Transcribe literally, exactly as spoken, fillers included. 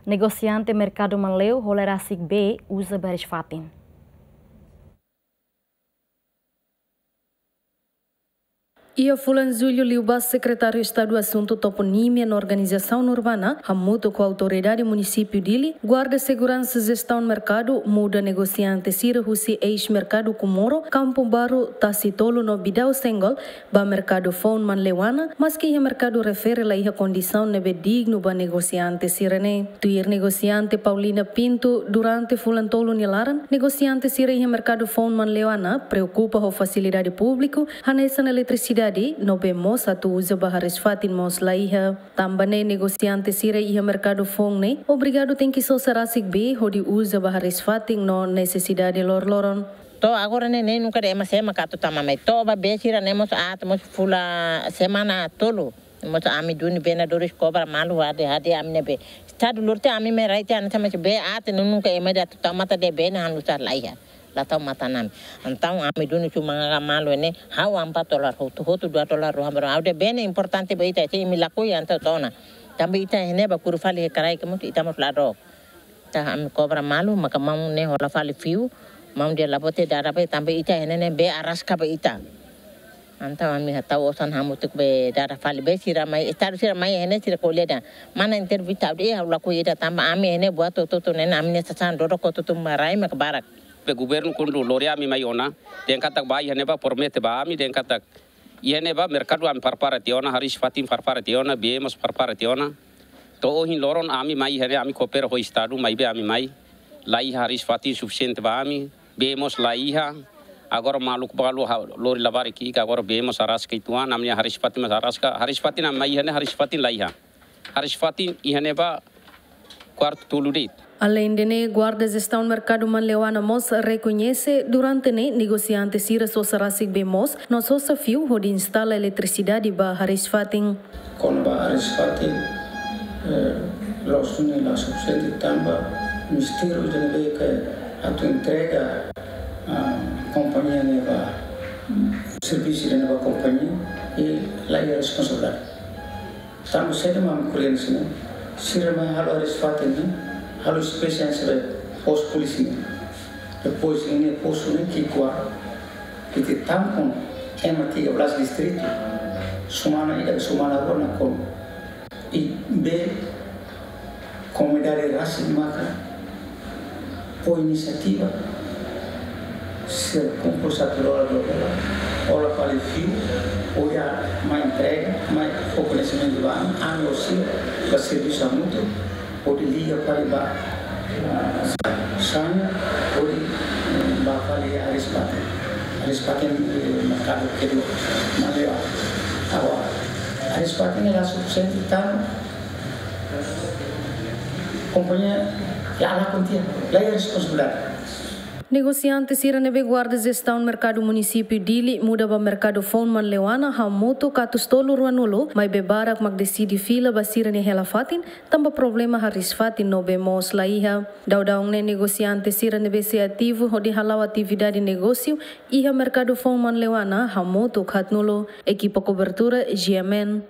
Negosiante merkadu Manleu hola rasik bee uza ba hariis-fatin. Iha fulan Jullu liubá, Sekretáriu Estadu Asuntu Toponímia no Organizasaun Urbana, hamutuk ho Autoridade Munisípiu Dili, Guarda Seguransa Jestaun Merkadu, muda negosiante sira husi eis-merkadu Comoro, Campo Baru, Tasi Tolu no Bidau Senggol, ba merkadu foun Manleuana, maski iha merkadu refere la iha kondisaun ne'ebé dignu ba negosiante sira-ne'e. Tuir negosiante Paulina Pinto, durante fulan tolu nia laran, negosiante sira iha merkadu foun Manleuana preokupa ho fasilidade públiku, hanesan eletrisidade, no bee moos atu uza ba hariis-fatin mós la iha. Tanba ne'e negosiante sira iha merkadu foun ne'e obrigadu tenke sosa rasik bee hodi uza ba hariis-fatin no nesesidade loroloron. To'o agora ne'e, ne'e nunka dehan ema sé maka atu tama mai. To'o ba bee sira-ne'e mós aat mós fulan semana tolu. Mós ami duni vendedores kobra malu, hade, hade ami-nia bee. Estadu lorte ami mai rai tiha, ami tama bee aat, no nunka ema atu tau matan de'it, bee ne'e halo sá la iha. La tau matan ami. Entaun ami duni cuma nganga malu ne'e, ha'u ampat dolar, hotu, hotu dua dolar, ruam, ruam. Ha'u dehan bee ne'e importante ba ita, se imi lakohi entaun to'o ona. Tanba ita iha ne'ebá kuru fali iha kraik mós, ita mós la dook. Entaun ami kobra malu, maka maun ne'e hola fali fiu, maun dehan la bote dada bee, tanba ita iha ne'e ne'e bee araska ba ita. Entaun ami hatau osan hamutuk bee dada fali, bee sira mai, estadu sira mai iha ne'e sira ko'alia dehan. Mana intervista ha'u dehan, eh, ha'u lakohi ida tanba ami iha ne'e buat hotu-hotu ne'e, ami-nia sasán dodok hotu-hotu mak rai maka barak. Bee governu kuandu lori ami mai ona, dehan katak bá iha ne'ebá promete ba ami, dehan katak iha ne'ebá merkadu ami prepara tiha ona, hariis-fatin prepara tiha ona, bee mós prepara tiha ona. To'o ohin loron ami mai iha ne'e, ami koopera ho estadu, maibé ami mai la iha hariis-fatin sufisiente ba ami, bee mós la iha. Agora maluk balu ha-, lori labarik ki'ik, agora bee mós araska uitoan, ami-nia hariis-fatin mós araska, hariis-fatin ami mai iha ne'e, hariis-fatin la iha. Hariis-fatin iha ne'ebá kuartu tolu de'it. Aleinde ne'e, Guarda Jestaun Merkadu Manleuana mós rekoñese durante ne'e negosiante sira sosa rasik bee moos no sosa fiu hodi instala eletrisidade ba hariis-fatin. Kona-ba hariis-fatin, eh, loos duni la sufisiente tanba ministériu ida ne'ebé ke atu entrega, ah, kompañia ne'e ba, servisu ida ne'e ba kompañia, i la iha responsabilidade. Tanba saida mak ami ko'alia hanesan ne'e, sira mai halo hariis-fatin ne'e, halo espésie hanesan postu polísia ne'e. Depois ne'e postu ne'e ki'ikoan, ita tampon ema tiga belas distritu, semana ida, semana rua nakonu. I bee komunidade rasik maka fó inisiativa, sira kumpul satu dolar, dua dolar, hola fali fiu, oinsá mai entrega, mai fó koñesimentu ba ami, ami ho sira, ba servisu hamutuk, hodi liga fali ba, ah, Sanya, hodi, eh, ba fali hariis-fatin. Hariis-fatin, eh, merkadu kedua, Manleuana. Agora, hariis-fatin la sufisiente tanba kompañia la lakon tiha, la iha responsabilidade. Negosiante sira ne'ebé Guarda Jestaun Merkadu Munisípiu Dili muda ba merkadu foun Manleuana hamutuk katorze tolu ruanulu, maibé barak mak deside fila ba sira-nia hela-fatin, tanba problema hariis-fatin no bee moos la iha. Daudaun ne'e negosiante sira ne'ebé sei ativu hodi hala'o atividade negósiu iha merkadu foun Manleuana hamutuk haatnulu. Ekipa kobertura, G M N.